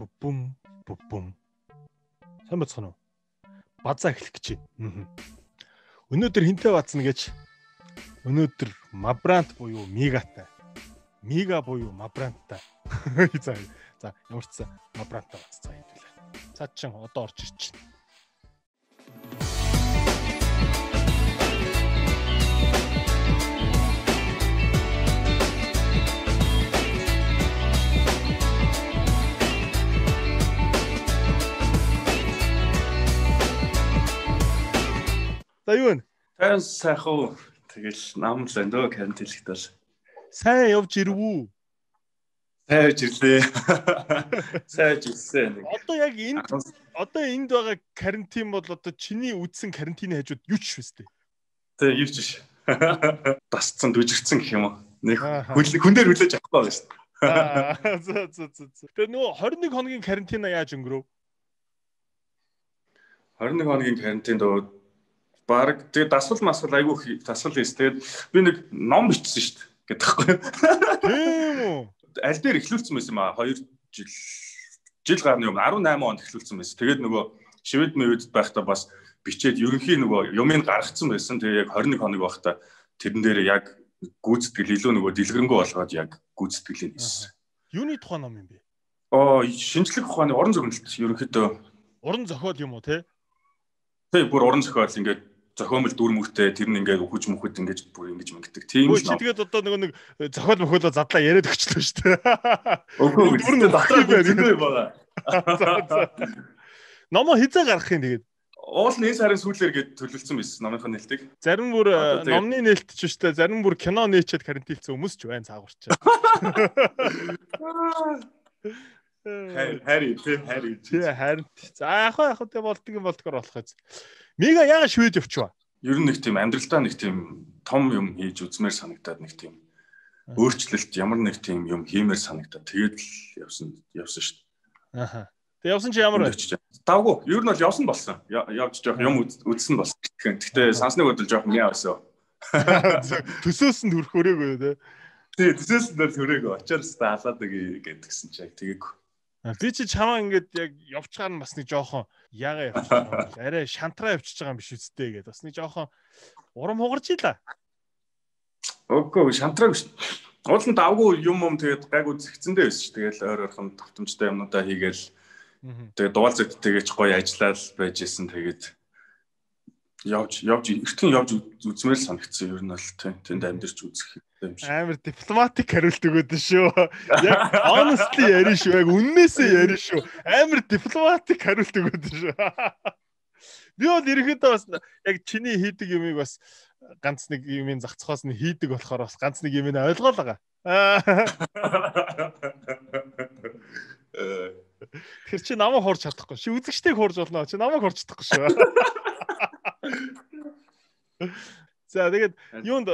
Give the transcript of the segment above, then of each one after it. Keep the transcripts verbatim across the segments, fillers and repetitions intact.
Бум бум. Сайн бацхан уу? Базаа эхлэх гэж байна. Өнөөдөр хинтээ бацна гэж өнөөдөр Мабрант буюу Мигатай. Мига буюу Мабранттай. За за ямар ч сан Мабранттай баццаа хэвлээ. Цаад чин одоо орж ирж байна. За юу вэ? Сайн сайхан. Тэгэл нам л энэ карантинлэгт бол сайн явж ирвүү. Сайн явж ирлээ. Сайн явж ирсэн. Одоо яг энд одоо энд байгаа карантин бол одоо чиний үдсэн карантины хажууд юу ч швэстэй. Тэ юу ч биш. Дасцсан дүжигдсэн гэх юм уу. Нэг хүн дээр хүлээж авахгүй байна шүү дээ. Аа за за за. Тэгээ нөгөө двадцать one хоногийн карантина яаж өнгөрөв? двадцать one хоногийн карантинд баг тэгээ дасвал масвал айгүй дасвал хийс. Тэгээд би нэг ном бичсэн шүү дээ гэдэгхгүй. Тийм үү? Аль дээр эхлүүлсэн байсан юм аа two жил жил гарны өмнө eighteen онд эхлүүлсэн байсан. Тэгээд нөгөө Швед мэвэд байхдаа бас бичээд ерөнхий нөгөө юмыг гаргацсан байсан. Тэгээ яг twenty one хоног байхдаа тэрэн дээр яг гүйцэтгэл илүү нөгөө дэлгэрэнгүй болгоод яг гүйцэтгэлийг хийсэн. Юуны тухайн ном юм бэ? Оо шинжлэх ухааны уран зохиолт ерөнхийдөө уран зохиол юм уу те? Тэг бүр уран зохиол ингээд зохиомл дүр мөртэй тэр нь ингээд үхэж мөхөд ингээд бүр ингэж мэгдэг. Тийм үү. Тэгээд одоо нөгөө нэг зохиол мөхөлөө задлаа яриад өгчлөө шүү дээ. Үгүй дүр нь дотор байгаа. Номоо хизээ гаргах юм тэгээд. Уул нь энэ сарын сүүлээр гээд төлөвлөсөн байсан номынхаа нээлтийг. Зарим бүр номны нээлт ч шүү дээ. Зарим бүр кино нээчээд карантинлцсэн хүмүүс ч байна цаагуурч. Хари тий хари. Тий харин. За яг яг тэ болдго юм болдгоор болох юм. Мига яга Швед явчихва. Ер нь нэг тийм амьдралдаа нэг тийм том юм хийж үзмээр санагдаад нэг тийм өөрчлөлт ямар нэг тийм юм хиймээр санагдаад тэгээд л явсан явсан шүү дээ. Аха. Тэг явсан чи ямар байж? Давгүй. Ер нь бол явсан болсон. Явж жоох юм үзсэн болсон. Гэхдээ сансны бодол жоох мяа байсан. Төсөөс нь төрөх өрөөгөө тий. Тий, төсөөс нь төрөөгөө очоор та алаад нэг гэдгсэн чи яг тэгээг. Би чи чамаа ингээд яг явчихаар нь бас нэг жоохон яага явчих юм бол арай шантраа явчихж байгаа юм биш үсттэй гэдэг. Бас нэг жоохон урам хугарч ийла. Үгүй шантраа биш. Уул нь давгүй юм юм тэгээд гайгүй зэгцэндээ байсан ш. Тэгэл ойр ойрхон тавтамжтай юмнуудаа хийгээл тэгээд дугаал зэгттэйгэж гоё ажиллаад байж исэн. Тэгээд явж явж эртхэн явж үзмээр л санагдсан. Ер нь бол тэнд амьдэрч үзэх юм шиг. Амар дипломатик хариулт өгөөд шүү. Яг honestly ярина шүү. Яг үннээсээ ярина шүү. Амар дипломатик хариулт өгөөд шүү. Би бол ерөнхийдөө бас яг чиний хийдэг юмыг бас ганц нэг юмын зах цохоос нь хийдэг болохоор бас ганц нэг юмыг ойлгоол байгаа. Тэр чи намайг хуурч чадахгүй. Чи үзэгчтэйг хуурж болно. Чи намайг хуурч чадахгүй шүү. За тэгээд юунд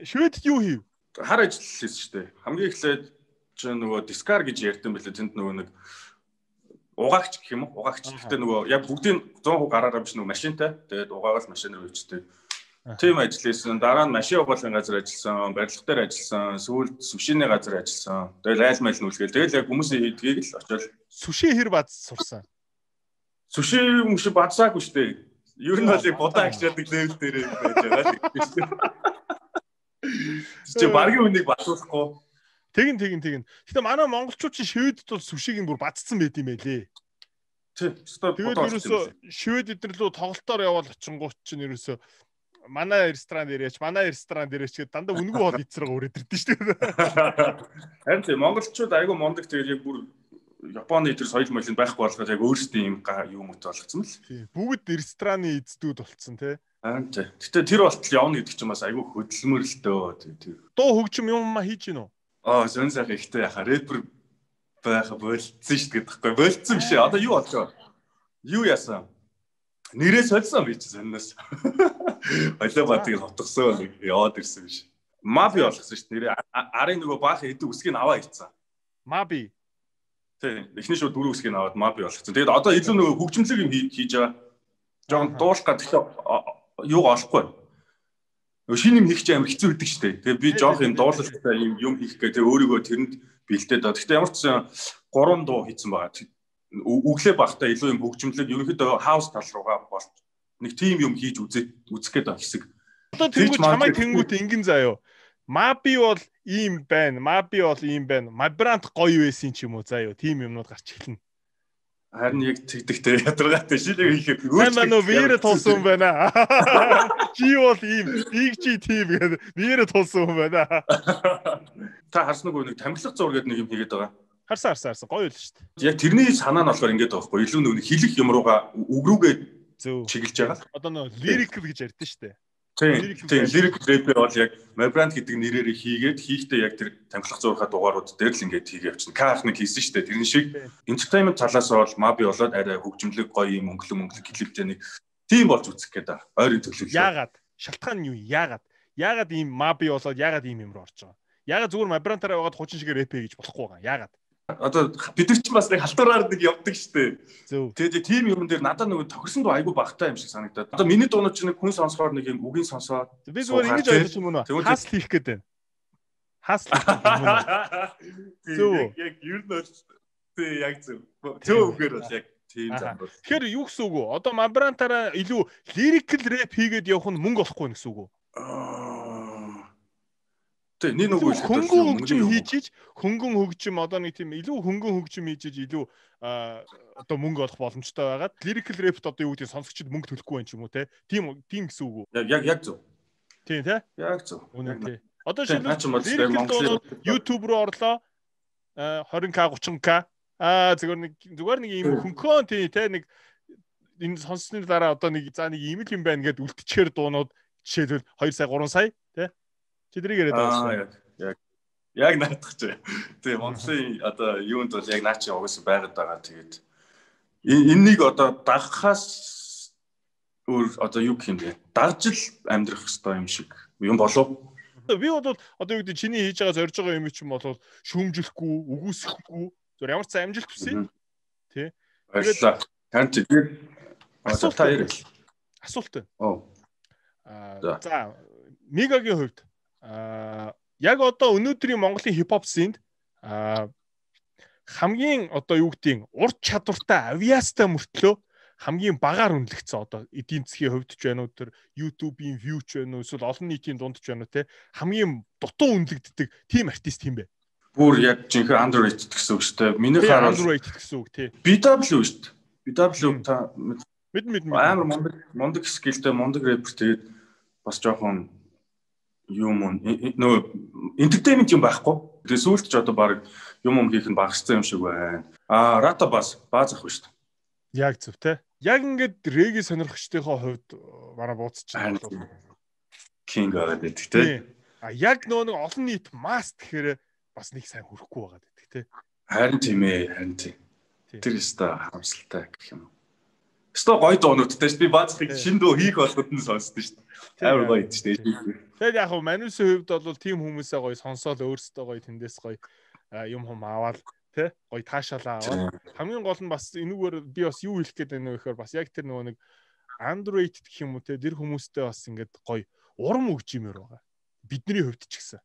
Шведд юу хийв? Хар ажил хийсэн шүү дээ. Хамгийн эхлээд чи нөгөө дискар гэж ярьсан байлээ. Тэнд нөгөө нэг угаагч гэх юм уу? Угаагч. Гэхдээ нөгөө яг бүгдийн one hundred percent гараараа биш нөгөө машинтай. Тэгээд угаагаад машинаар үйчтэй. Тийм ажил хийсэн. Дараа нь машин угаалгын газар ажилласан, барилга дээр ажилласан, сүүлд сүшиний газар ажилласан. Тэгэл айл майл нүлгээл. Тэгэл яг хүмүүсийн хийдгийг л очоод сүши хэр бац сурсан. Сүши мөш бацаагүй шүү дээ. Ер нь бол бодоо агчаадаг левел дээр байж байгаа л шүү дээ. Чи баргийн үнийг батуулахгүй. Тэгин тэгин тэгин. Гэтэ манай монголчууд чи Шведд бол сүшиг нь бүр бацсан байт юм байлээ. Тий. Тэгээд ерөөсө Швед эднэр лөө тоглолтоор явал очингууд чинь ерөөсө манай ресторан дээрээч, манай ресторан дээрээч гэдэг дандаа үнгүй бол эцрэг өрөөдөрдөн шүү дээ. Харин тий монголчууд айгүй мондөг тэгээд яг бүр Японы тэр соёл моёлын байхгүй болгоод яг өөрсдийн юм юм ут болгоцсон л. Тий. Бүгд рестораны эздүүд болцсон тий. Аа тий. Гэтэ тэр болтол явна гэдэг чинь бас айгүй хөдөлмөр л дөө тэр. Дуу хөгжим юм ма хийж гинөө. Аа зөн сайхан ихтэй яхаа рэпер байха болцсон шүү дээ гэдэгхгүй. Болцсон биш ээ. Одоо юу болчихоо? Юу яасан? Нэрээ солисон би чи сонноос. Олоо батыг хотгосон нэг яваад ирсэн биш. Маби болгосон шүү дээ. Нэрээ арын нөгөө баах эдэг үсгийг аваа хийцэн. Маби. Тий. Эхний шууд дөрөв үсгийг аваад маби болгосон. Тэгээд одоо илүү нөгөө хөгжмөлөг юм хийж байгаа. Жон дуулах гэдэг юу олохгүй. Шинэ юм хийх чинь амар хэцүү байдаг шүү дээ. Тэгээ би жоох юм дуулалттай юм юм хийх гэдэг өөрийгөө тэрэнд бэлдээд байгаа. Гэхдээ ямар ч гурван дуу хийсэн байгаа. үглээ багтаа илүү юм хөгжимлэг ерөнхийдөө хаус тал руугаа бол нэг тим юм хийж үзэх үзэх гээд байгаа хэсэг. Одоо тэнгуү чамайг тэнгуүт ингэн заяо. Маби бол ийм байна. Маби бол ийм байна. Мабрант гоё байсан ч юм уу заяо. Тим юмнууд гарч эхэлнэ. Харин яг тэгдэгтэй ядаргаатай шилэг хийхэд өөрчлөлт манай вирэ тулсан юм байна. Чи бол ийм иг чи тим гэдэг вирэ тулсан юм байна. Та харсан уу нэг тамхилах зураг гэдэг нэг юм хийгээд байгаа. Харсан харсан харсан гоё л шүү дээ. Яг тэрний санаа нь болохоор ингэж байгаа байхгүй илүү нэг хэлэх юм руугаа өгрүүгээ чиглэж байгаа. Одоо нөө лирикл гэж ярьдэн шүү дээ. Тийм тийм лирик рэпер бол яг Мабрант гэдэг нэрээр хийгээд хийхдээ яг тэр тамхилах зурхаа дугаарууд дээр л ингэж хийгээ явчихна. Каах нэг хийсэн шүү дээ. Тэрний шиг entertainment талаас бол Маби болоод арай хөгжимлэг гоё юм өнгөлөг мөнгөлөг клиптэй нэг тийм болж үзэх гээд байгаа. Ойрын төлөвлөлөө. Яагаад? Шалтгаан нь юу? Яагаад? Яагаад ийм Маби болоод яагаад ийм юм руу орж байгаа? Яагаад зүгээр Мабрантаараа байгаад хучин шигээр рэпэ гэж болохгүй байгаа. Яагаад? Одоо бид нар ч бас нэг халтураар нэг явдаг штэ. Тэгээд тийм юм дээр надад нэг тохирсон дуу айгүй багтаа юм шиг санагдаад. Одоо миний дуунууд чинь нэг хүн сонсохоор нэг юм үгийн сонсоод би зүгээр ингэж ойлгож юм уу? Хасл хийх гээд байна. Хасл хийх юм уу? Яг ер нь тий яг зөв. Зөв үгээр бол яг тийм зам бол. Тэгэхээр юу гэсэн үг вэ? Одоо Мабрантаараа илүү лирикл рэп хийгээд явах нь мөнгө олохгүй гэсэн үг үү? Тэ нэг нэг үйл хөнгөн хөгжим хийж хөнгөн хөгжим одоо нэг тийм илүү хөнгөн хөгжим хийж илүү одоо мөнгө олох боломжтой байгаад lyrical rap-т одоо юу гэдэг сонсогчд мөнгө төлөхгүй байх юм уу те тийм тийм гэсэн үг үү яг яг зөв тийм те яг зөв үнэн тий одоо шилбэл YouTube руу орлоо twenty K thirty K аа зүгээр нэг зүгээр нэг ийм хөнгөн тий те нэг энэ сонссны дараа одоо нэг за нэг ийм л юм байна гэд үлдчихээр дуунууд жишээлбэл two сая three сая те чи тэрийг яриад байгаа шүү. Яг яг наадах чи. Тэгээ Монголын одоо юунд бол яг наачи угсаа байгаад байгаа. Тэгээд энэнийг одоо дагахаас өөр одоо юу гэх юм бэ? Дагж л амьдрах хэрэгтэй юм шиг юм болов. Би бол одоо юу гэдэг чиний хийж байгаа зорж байгаа юм чинь бол шүүмжлэхгүй, үгүйсэхгүй зөв ямар ч амжилт хүсье. Тэ. Баярлалаа. Тань тэгээд асуулт таяр. Асуулт байна. Оо. Аа за Мигагийн хувьд а яг одоо өнөөдрийн Монголын хипхоп сценд а хамгийн одоо юу гэдгийг урт чадвартай авиастай мөртлөө хамгийн багаар үнэлэгдсэн одоо эдийн засгийн хувьд ч байна уу тэр YouTube-ийн view ч байна уу эсвэл олон нийтийн дунд ч байна уу те хамгийн дутуу үнэлэгддэг team артист юм бэ. Бүр яг жинхэнэ underrated гэсэн үг шүү дээ. Миний хараад underrated гэсэн үг тий. би дабл ю шүү дээ. би дабл ю та мэд мэд амар мундаг мундаг скиллтэй мундаг рэпер тэгээд бас жоохон юм нөө entertainment юм байхгүй. Тэгээ сүүлд ч одоо баг юм юм хийх нь багассан юм шиг байна. Аа рата бас бааз ах шүү дээ. Яг зөв те. Яг ингээд реги сонирхчдынхоо хувьд манай бууцчих. King гэдэг гэдэг те. А яг нөө нэг олон нийт маст гэхээр бас нэг сайн хүрэхгүй байгаа гэдэг те. Харин тийм ээ, харин тийм. Тэр өстой харамсалтай гэх юм. Өстой гоё дуунуудтай шүү. Би баазхыг шинэ дуу хийх болгоод нь сонсдоо шүү. Амар гоё шүү дээ. Тэгээд яг хөө Манусын хувьд бол тийм хүмүүсээ гоё сонсоол өөрсдөө гоё тэндээс гоё юм хум аваад тэ гоё таашаалаа аваад хамгийн гол нь бас энүүгээр би бас юу хэлэх гээд байна вэ гэхээр бас яг тэр нөгөө нэг underrated гэх юм уу те тэр хүмүүстэй бас ингээд гоё урам өгч юмэр байгаа. Бидний хувьд ч гэсэн.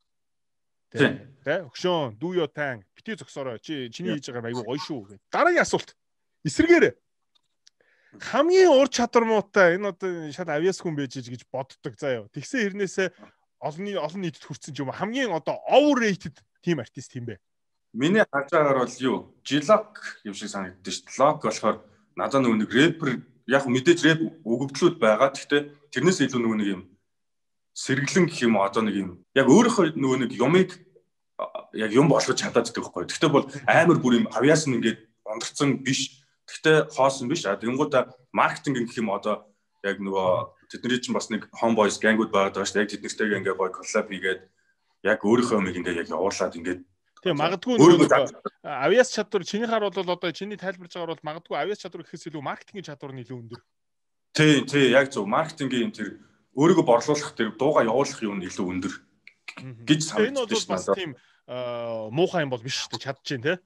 Тэ тэ өгшөн do your thing бити зөксороо чи чиний хийж байгаа айгүй гоё шүү гэх. Дараагийн асуулт. Эсрэгээр хамгийн ур чадвар муутай энэ одоо шат авиас хүн байж гэж боддог заяа. Тэгсэн хэрнээсээ олон олон нийтэд хүрсэн ч юм хамгийн одоо overrated team артист юм бэ. Миний харж байгаагаар бол юу? Жилок юм шиг санагддаг шүү дээ. Лок болохоор надад нөгөө нэг рэпер яг мэдээж рэп өгөгдлүүд байгаа. Гэхдээ тэрнээс илүү нөгөө нэг юм сэргэлэн гэх юм одоо нэг юм яг өөрийнхөө нөгөө нэг юмыг яг юм болгож чадаад байдаг байхгүй. Гэхдээ бол амар бүр юм авиас нь ингээд ондорцсон биш. Гэхдээ хоосон биш. А тэгэнгүүтээ маркетинг гэх юм одоо яг нөгөө тэдний чинь бас нэг homeboys gangуд байгаад байгаа шүү дээ. Яг тэднэртэйгээ ингээ гоё collab хийгээд яг өөрийнхөө юмыг ингээ яг явуулаад ингээ тийм магадгүй нөгөө авиас чадвар чиний хаар бол одоо чиний тайлбарж байгаагаар бол магадгүй авиас чадвар гэхээс илүү маркетингийн чадвар нь илүү өндөр. Тий, тий, яг зөв. Маркетингийн тэр өөрийгөө борлуулах тэр дууга явуулах юм нь илүү өндөр гэж санагдаж байна. Энэ бол бас тийм муухай юм бол биш шүү дээ. Чадчихээн тий.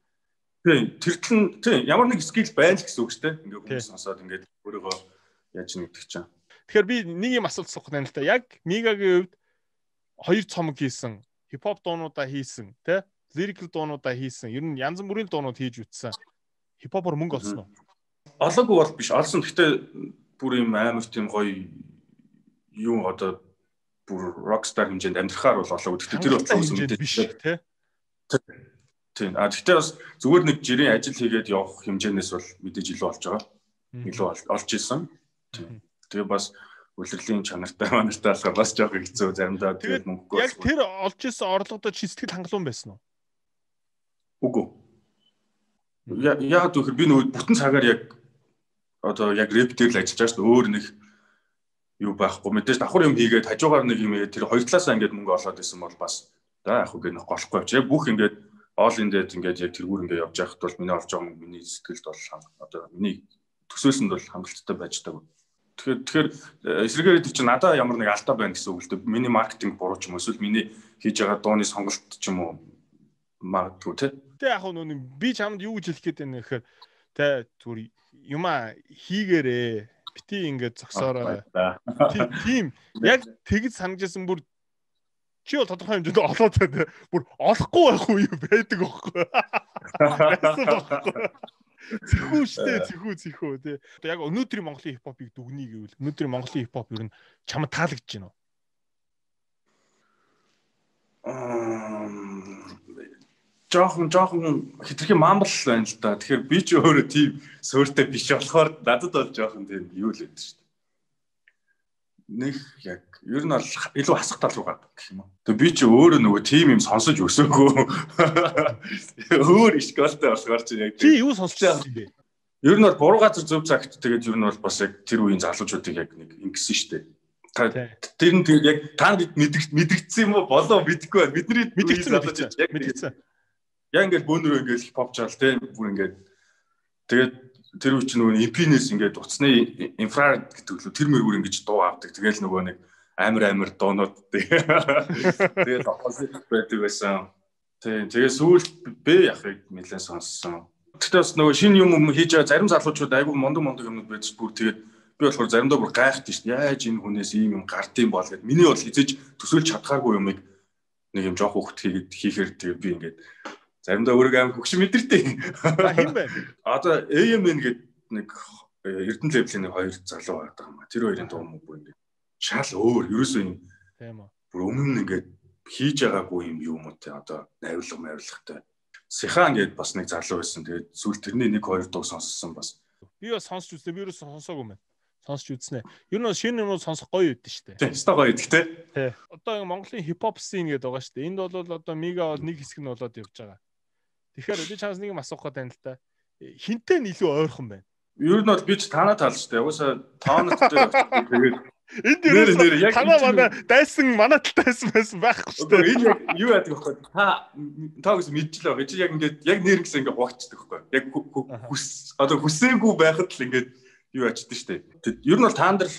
Тийм, тэртэн тийм ямар нэг скил байна л гэсэн үг шүү дээ. Ингээ хүмүүс сонсоод ингээ өөрийгөө яаж нэгдэх чинь. Тэгэхээр би нэг юм асуулт асуух байна л да. Яг Мигагийн хувьд хоёр цомог хийсэн, хипхоп дуунуудаа хийсэн, тэ? Lyrical дуунуудаа хийсэн. Ер нь янз бүрийн дуунууд хийж үтсэн. Хипхопор мөнгө олсон уу? Олоогүй бол биш. Олсон. Гэхдээ бүр юм амар тийм гоё юу одоо бүр rockstar хэмжээнд амьдрахаар бол олоогүй. Гэхдээ тэр бол хэмжээнд биш тий. Тийм. А гэхдээ бас зүгээр нэг жирийн ажил хийгээд явах хэмжээнээс бол мэдээж илүү болж байгаа. Илүү олж ирсэн. Тийм. Тэгээ бас үлрэлийн чанартай манартай болохоор бас жоох хэцүү заримдаа тэгээд мөнгөгүй. Яг тэр олж ирсэн орлогодоо чи сэтгэл хангалуун байсан уу? Үгүй. Яагаад гэвэл би нөгөө бүтэн цагаар яг одоо яг рэп дээр л ажиллаж байгаа шүү дээ. Өөр нэг юу байхгүй. Мэдээж давхар юм хийгээд хажуугаар нэг юм ээ тэр хоёр талаасаа ингээд мөнгө олоод исэн бол бас за яг үгүй нэг голохгүй авч. Яг бүх ингээд оол эндээд ингээд яг тэргүүр ингээд явж байхад бол миний олж байгаа мөнгө миний сэтгэлд бол одоо миний төсөөлсөнд бол хангалттай байж таг. Тэгэхээр тэгэхээр эсрэгээр тэр чинь надаа ямар нэг алдаа байна гэсэн үг л дээ. Миний маркетинг буруу ч юм уу эсвэл миний хийж байгаа дууны сонголт ч юм уу магадгүй тий. Тэ яг нүг би чамд юу гэж хэлэх гээд байна гэхээр тэ зүгээр юма хийгээрээ бити ингээд зогсоорой. Тийм яг тэгж санагдсан бүр чи бол тодорхой хэмжээнд олоод байна. Бүр олохгүй байх уу юу байдаг байхгүй. Зэхүү штэ зэхүү зэхүү тий. Яг өнөөдрийн Монголын хипхопыг дүгнэе гэвэл өнөөдрийн Монголын хипхоп ер нь чамд таалагдж байна уу? Жохон жохон хитрхи мамбал байна л да. Тэгэхээр би ч өөрөө тийм суурьтай биш болохоор надад бол жохон тийм юу л байдаг шүү дээ. Нэг яг ер нь бол илүү хасах тал руу гад гэх юм уу. Тэгээ би ч өөрөө нөгөө тийм юм сонсож өсөөгөө. Өөр ишгалтай болохоор чи яг чи юу сонсож байгаа юм бэ? Ер нь бол буруу газар зөв цагт тэгээд ер нь бол бас яг тэр үеийн залуучуудыг яг нэг ингэсэн шүү дээ. Тэр нь яг та мэдэгдсэн юм уу болоо мэдэхгүй байна. Бидний мэдэгдсэн яг мэдэгдсэн. Яг ингээд бөөнөрөө ингээд хипхоп чаал те бүр ингээд тэгээд тэр үе чинь нөгөө импинес ингээд уцсны инфраред гэдэг лөө тэр мөргөр ингэж дуу авдаг. Тэгээл нөгөө нэг амар амар дуунууд тэгээд опозит байдаг байсан. Тэгээд тэгээд сүүлд бэ яхыг нэлээд сонссон. Тэгтээ бас нөгөө шинэ юм хийж байгаа зарим залуучууд айгүй мундаг мундаг юмнууд байж бүр тэгээд би болохоор заримдаа бүр гайхдаг шүү дээ. Яаж энэ хүнээс ийм юм гардыг бол гэд. Миний бол хизээж төсөөлж чадхааргүй юмыг нэг юм жоох хөвгт хийгээд хийхээр тэгээд би ингээд заримдаа өөрөө аим хөгшин мэдэртэй. Хин байна. Одоо эй эм эн гэдэг нэг Эрдэнэ левлийн нэг хоёр залуу байдаг юм а. Тэр хоёрын дуу мөн бүр ингээд шал өөр. Ерөөсөө юм. Тийм үү. Бүр өмнө нь ингээд хийж байгаагүй юм юу юм те одоо найрлага майрлагтай. Сихан гэдэг бас нэг залуу байсан. Тэгээд сүүл тэрний нэг хоёр дуу сонссон бас. Би бас сонсч үзлээ. Би ерөөсөө сонсоогүй юм. Сонсч үзнэ. Ер нь шинэ юмуд сонсох гоё үйдэн штэ. Тийм, өстой гоё үйдэх те. Тий. Одоо Монголын хипхоп scene гэдэг байгаа штэ. Энд бол одоо мега бол нэг хэсэг нь болоод явж байгаа. Тэгэхээр би чамаас нэг юм асуух гэдэг юм л та. Хинтээ нь илүү ойрхон байна. Ер нь бол би ч танаа тал штэ. Угаасаа тоонот дээр тэгээд энд дээр яг танаа манай дайсан манай талтайсан байсан байхгүй штэ. Одоо энэ яг юу яадаг вэ? Та та гэсэн мэдчихлээ байгаа. Чи яг ингээд яг нэр гэсэн ингээд хугацдаг байхгүй. Яг хүс одоо хүсээгүй байхад л ингээд юу ачдаг штэ. Ер нь бол таандар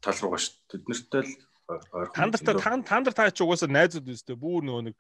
тал руугаа штэ. Тэд нартай л ойрхон. Тандартай таандар таа ч угаасаа найзууд үстэй. Бүр нөгөө нэг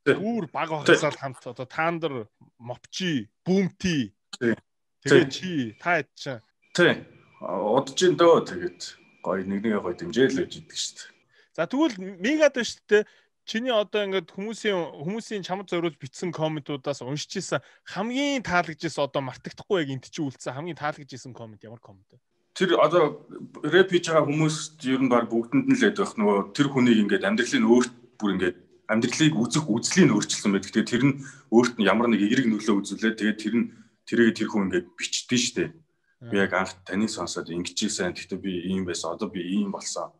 бүр баг багсаал хамт одоо таандар мовчи бүүмти тэгээд чи та ячаа. Тий. Удаж ин дөө тэгээд гоё нэг нэгэ гоё дэмжээл гэж идэг штэ. За тэгвэл мегад байна штэ. Чиний одоо ингээд хүмүүсийн хүмүүсийн чамд зориулж бичсэн комментуудаас уншиж исэн хамгийн таалагджсэн одоо мартагдахгүй яг энт чи үлдсэн хамгийн таалагджсэн коммент ямар коммент вэ? Тэр одоо рэп хийж байгаа хүмүүс ер нь баг бүгдэнд нь л байдаг нөгөө тэр хүнийг ингээд амьдралын өөрт бүр ингээд амьдралыг үзэх үзлийн өөрчлөлсөн байдаг. Тэгээд тэр нь өөрт нь ямар нэг эерэг нөлөө үзүүлээд тэгээд тэр нь тэрийг тэр хүн ингээд бичдэж штэ. Би яг анх таныг сонсоод ингэжсэн. Гэхдээ би ийм байсан. Одоо би ийм болсон.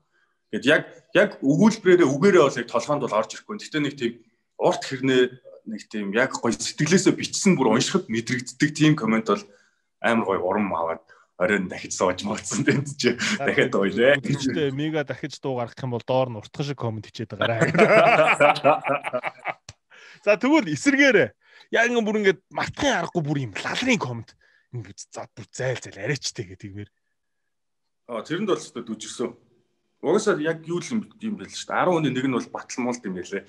Гэт яг яг өгүүлбэрээ үгээрээ бол яг толгоонд бол орж ирэхгүй. Гэхдээ нэг тийм урт хэрнээ нэг тийм яг гоё сэтгэлээсээ бичсэн бүр уншихад мэдрэгддэг тийм комент бол амар гоё урам аваад оройн дахиж сууж молцсон танд чи дахиад ойлээ. Гэхдээ мега дахиж дуу гаргах юм бол доор нь уртхан шиг комент хичээд байгаарай. За тэгвэл эсэргээрээ яг ингэ бүр ингэ мартахын аргагүй бүр юм лалрын комент ингэ за бүр зайл зайл арайчтэй гэдэг юмэр. Аа тэрэнд бол өстө дүжигсэн. Угаасаа яг юу л юм байл шүү дээ. десять оны нэг нь бол батал муулт юм байлээ.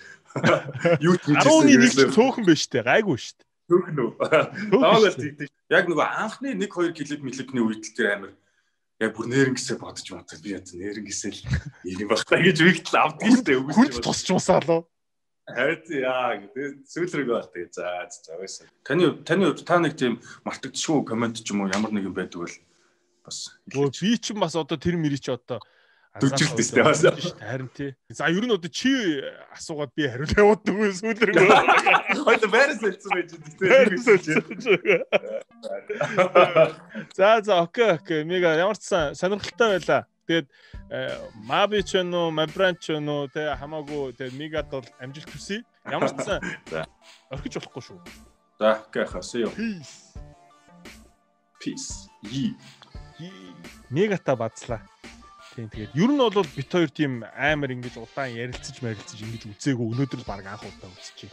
Юу ч десять оны нэг ч цөөхөн байж тээ гайгүй шүү дээ. Цөөхөн үү. Таавал тийгтэй. Яг нөгөө анхны нэг хоёр клип мэлэпний үед л тэр амир яг бүр нэрнгэсээ бодож бодож би яа нэрнгэсэл ийм багтаа гэж үгтэл авдаг шүү дээ. Хүнд тусч уусаалаа. Хайр яа гэдэг сүүлрэг бол тэгээ за за байсан. Таны таны хувьд та нэг тийм мартагдчихгүй комент ч юм уу ямар нэг юм байдаг бол бас би ч бас одоо тэр мэрий чи одоо дүржилт дээ бас харин тий. За ер нь одоо чи асуугаад би хариулт явуулдаг үү сүүлрэг. Хоёул байрас хэлсэн байж дээ. За за окей окей мега ямар ч сонирхолтой байлаа. Тэгээд Маби ч нөө Мабран ч нөө тэ хамаагүй тэ мегад бол амжилт хүсье. Ямар ч за орхиж болохгүй шүү. За окей хасё. Peace. Peace. Yi. Мегата бацлаа. Тийм тэгээд ер нь бол бит хоёр тийм амар ингэж удаан ярилцаж марилцаж ингэж үзээгүй өнөөдөр баг анх удаа үзчихье.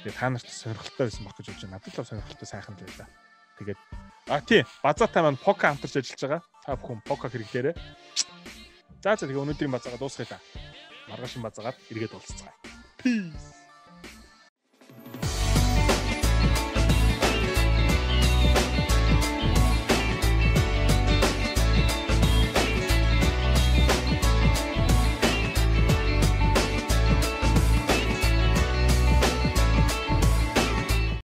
Тэгээд та нарт сонирхолтой байсан баг гэж бодож байна. Надад л сонирхолтой сайхан л байлаа. Тэгээд а тий базаатай маань пока хамтарч ажиллаж байгаа. Та бүхэн пока хэрэглээрэй. За за тэгээ өнөөдрийн базаагаа дуусгая та. Маргааш базаагаад эргээд уулзцгаая. Peace.